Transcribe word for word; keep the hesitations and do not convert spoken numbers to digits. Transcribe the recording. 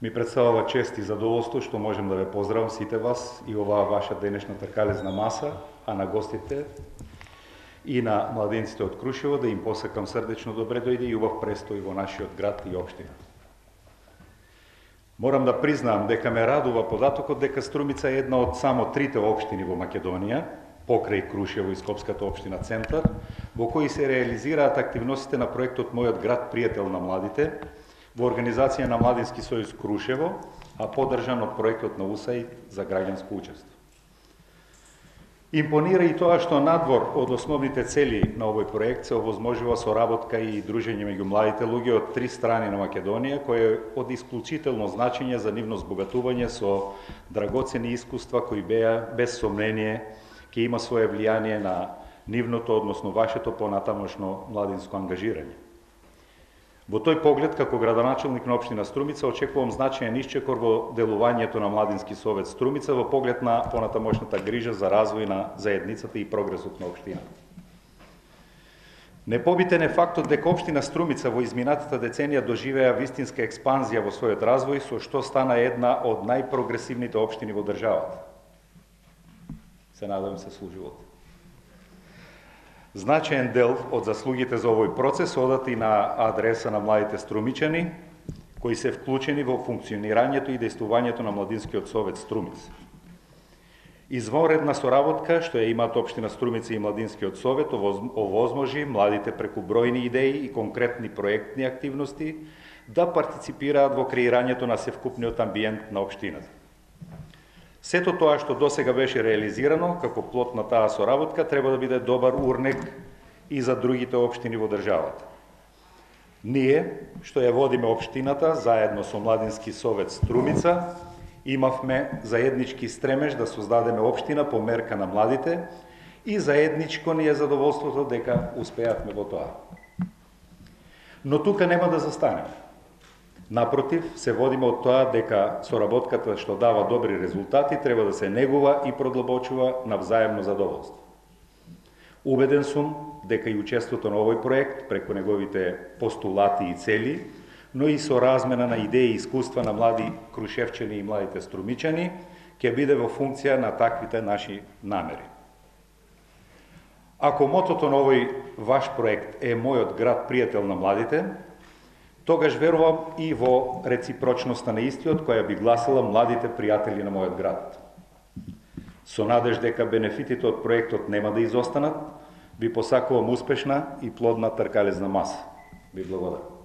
Ми представува чест и задоволство што можем да ве поздравам сите вас и оваа ваша денешна тркалезна маса, а на гостите и на младенците од Крушево да им посакам срдечно добре дојде и убав престој во нашиот град и општина. Морам да признаам дека ме радува податокот дека Струмица е една од само трите општини во Македонија, покрај Крушево и Скопската општина Центар, во кои се реализираат активностите на проектот Мојот град пријател на младите, во организација на Младински сојуз Крушево, а поддржан од проектот на УСАИД за граѓанско учество. Импонира и тоа што надвор од основните цели на овој проект се овозможува соработка и дружење меѓу младите луѓе од три страни на Македонија, кој е од исклучително значење за нивно збогатување со драгоцени искуства кои беа без сомнение ќе има свое влијание на нивното, односно вашето понатамошно младинско ангажирање. Во тој поглед, како градоначелник на општина Струмица, очекувам значаен исчекор во делувањето на Младински совет Струмица во поглед на понатамошната грижа за развој на заедницата и прогресот на општината. Непобитен е фактот дека општина Струмица во изминатата деценија доживеа вистинска експанзија во својот развој, со што стана една од најпрогресивните општини во државата. Се надевам се служувате. Значаен дел од заслугите за овој процес одат и на адреса на младите струмичани, кои се вклучени во функционирањето и действувањето на Младинскиот совет Струмица. Извонредна соработка што ја имаат општина Струмица и Младинскиот совет овозможи младите преку бројни идеи и конкретни проектни активности да партиципираат во креирањето на севкупниот амбиент на општината. Сето тоа што досега беше реализирано како плод на таа соработка треба да биде добар урнек и за другите општини во државата. Ние, што ја водиме општината, заедно со Младински совет Струмица, имавме заеднички стремеж да создадеме општина по мерка на младите и заедничко ни е задоволството дека успеавме во тоа. Но тука нема да застанеме. Напротив, се водиме од тоа дека соработката што дава добри резултати треба да се негува и продлабочува на взаемно задоволство. Убеден сум дека и учеството на овој проект преку неговите постулати и цели, но и со размена на идеи и искуства на млади крушевчани и младите струмичани, ќе биде во функција на таквите наши намери. Ако мотото на овој ваш проект е Мојот град пријател на младите, тогаш верувам и во реципрочноста на истиот која би гласила младите пријатели на мојот град. Со надеж дека бенефитите од проектот нема да изостанат, ви посакувам успешна и плодна тркалезна маса. Ви благодарам.